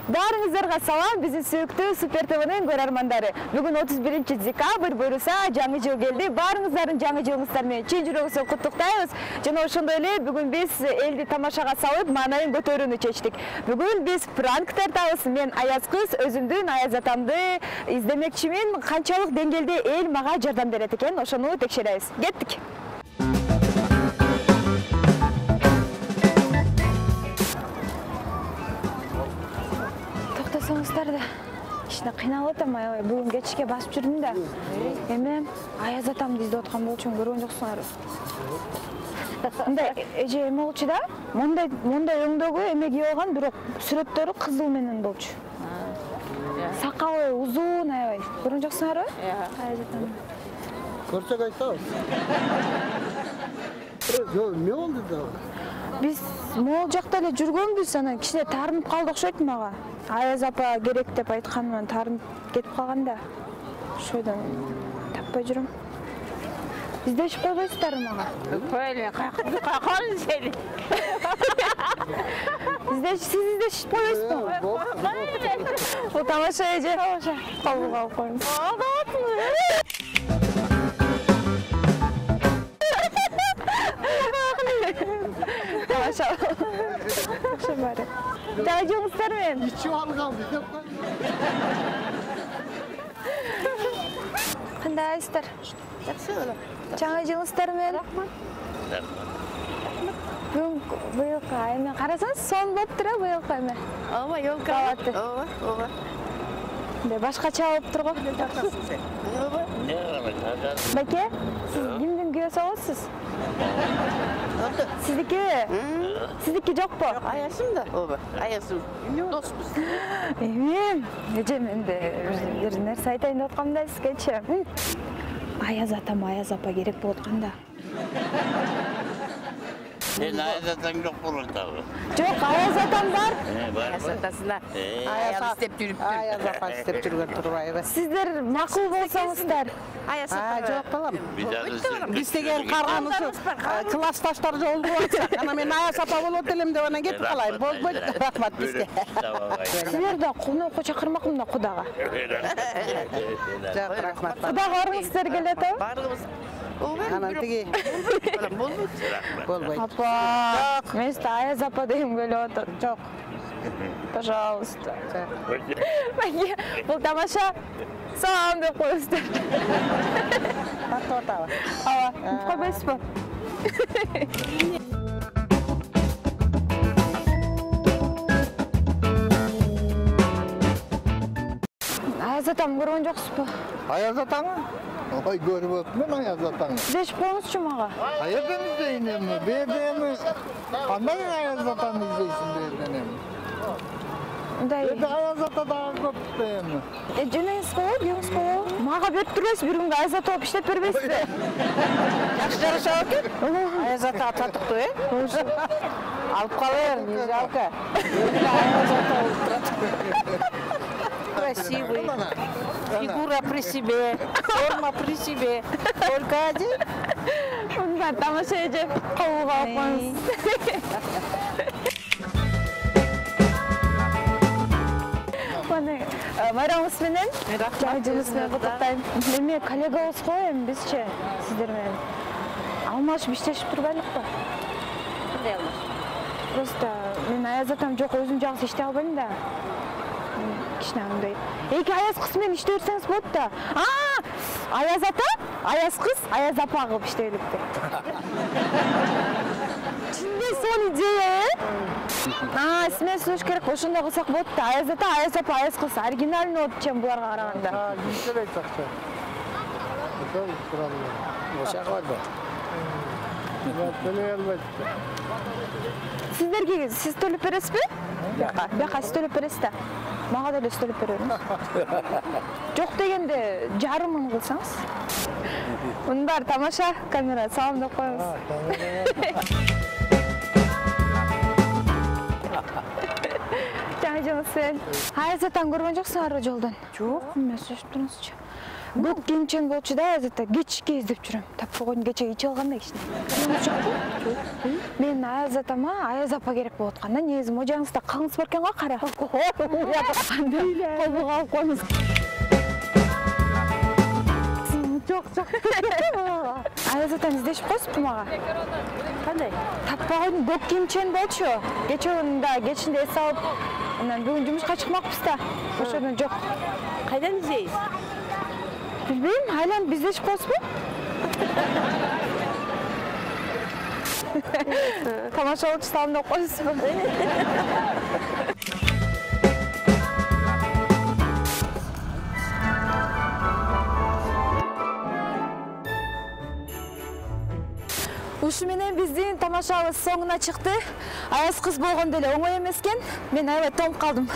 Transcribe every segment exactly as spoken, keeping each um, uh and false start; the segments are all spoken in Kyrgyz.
Баарыңыздарга салам, биздин сүйүктүү Супер ТВнын көрөрмандары. Бүгүн отуз биринчи декабрь буюрса жаңы жыл келди. Баарыңыздардын жаңы жылыңыздар менен чын жүрөгүбүздөн куттуктайбыз. Жана ошондой эле бүгүн биз элди тамашага салып, маанайын көтөрүүнү чечтик. Бүгүн биз пранк тартабыз. Мен аяз кыз өзүмдүн аяз атамды издемекчимин. Канчалык деңгээлде эл мага жардам берет экен, ошону текшеребиз. Кеттик. Токтосоңуздар да кичине кыйналып атам, аябай бүгүн кечке басып жүрдүм да. Эми аяз атамды издеп аткан болчумун, көргөн жоксуңарбы? Мындай эже эме болчу да, мондай мондай өңдөгү эме кийип алган, бирок сүрөттөрү кызыл менен болчу. Сакалы узун аябай. Көргөн жоксуңарбы? Аяз атам. Көрсөк айтабыз. Жок, эмне болду да? Биз могул жакта эле жүргөнбүз, анан кичине таарынып калды окшойт мага. Аяз апа керек деп айтканмын, таарынып кетип калган да. Ошойдон таппай жүрөм. Издешип койбойсуздарбы мага? Койли, кайкы сени. Издеш, сиз издешип койбойсузбу? Бул тамаша эже. Тамаша. Кабыл алып коюңуз. Тамаша. Ошо баары. Жаңы жылыңыздар менен. Ичип алган деп кой. Кандайсыздар? Жакшы эле. Жаңы жылыңыздар менен. Бүгүн быйылкы эме карасаңыз сон болуптур э, быйылкы эме. Ооба, ёлка. Ооба, ооба. Мындай башкача болуптур го. Ооба. Байке, сиз кимдин күйөөсү болосуз? Сиздики? Сиздики жокпу? Аясым да. Ооба, аясым. Доспуз. Эми, эже менде бир нерсе айтайын деп аткам да сизгечи. Аяз атам, аяз апа керек болуп аткан да. Sen аяз атаң жок болот дагы. Жок, аяз атам бар. Аяз атасына аяз istep жүрүптүр. Аяз апа istep жүргөн турбайбы? Сиздер макул болсоңуздар. Аяз апа. Жок балам. Биз деген карган ушу классташтар жолду атсак, ана мен аяз апа болот элем деп анан кетип калайын. Болбойт. Рахмат бизге. Силер да конокко чакырмакмын да Кудага. Жок, рахмат. Кудага барыңыздар келет атабы? Барыбыз. Анан тиги болбойт. болбойт. Апа, мен сизди аяз апа дегим келип атат. Жок. Пожалуйста. Байке, бул тамаша. Салам деп коюңуздар. Тартып атабы? Ооба, койбойсузбу? Аяз атам көргөн жоксузбу? Аяз атаңы? Ой, көрүп атмын аяз атаңы. Издешип коюңузчу мага. Каерден издейин эми? Берде эми кандай аяз атаны издейсиң берден эми? Мындай. Берде аяз ата дагы көп да эми. Э, жөнөңүз болобу, күйөөңүз болобу? Мага берип турбайсызбы, бир күнгө аяз ата болуп иштеп бербейсизби? Жакшы жарашабы экен? Аяз ата татыктуу, э? Алып кала бер, не жалко. Аяз ата болуп турат. Красивый. Фигура при себе, форма при себе. Только один. Мындай тамаша эже, кабылга алып коюңуз. Майрамыңыз менен, жаңы жылыңыз менен куттуктайм. Эми коллегабыз го эми бизчи сиздер менен. Алмашып иштешип турбайлыкпы? Кандай алмаш? Просто мен аяз атам жок, өзүм жакшы иштей албайм да. Кичине андай. Эки аяз кыз менен иштей берсеңиз болот да. А, аяз ата, аяз кыз, аяз апа кылып иштей элек. Чынында сол идея, э? А, сине сөз керек, ошондой кылсак болот да. Аяз ата, аяз апа, аяз кыз оригинальный болот чем буларга караганда. А, бизге айтсакчы. Ошол туралы. Ошого барбы? Мен төлөй албайт. Сиздерге сиз төлөп бересизби? Бияка, бияка сиз төлөп бересиз да. Мага деле төлөп беребиз. Жок дегенде жарымын кылсаңыз. Мындар тамаша, камера салам деп коюңуз. Жаңы жылыңыз менен. Аяз атаны көргөн жоксуңарбы жолдон? Жок, эмне сөзүп туруңузчу. Көк кийимчен болчу да, азырда кечке издеп жүрөм. Таппай койдум, кече ичип алганда кичине. Мен Аяз атама Аяз апа керек болуп атканда, негизи можаңызда калыңыз бар экен го, кара. Колго алып коюңуз. Жок, жок. Аяз атам издешип койсузбу мага? Кандай? Таппай койдум, көк кийимчен болчу. Кече да кечинде эс алып, анан бүгүн жумушка чыкмакпыз да. Ошондон жок. Кайдан издейсиз? Билбейм, айланып издешип койсузбу? Тамашалоочу салымдап коесузбу? Ушу менен биздин тамашабыз соңуна чыкты. Аяз кыз болгондо эле оңой эмес экен. Мен аябай тоңуп калдым.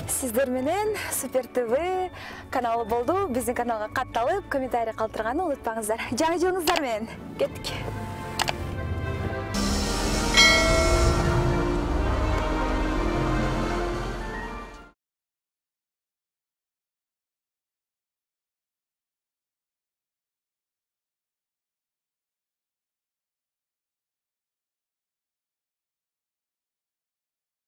Сиздер менен Супер ТВ каналы болду. Биздин каналга катталып, комментарий калтырганды унутпаңыздар. Жаңы жылыңыздар менен. Кеттик.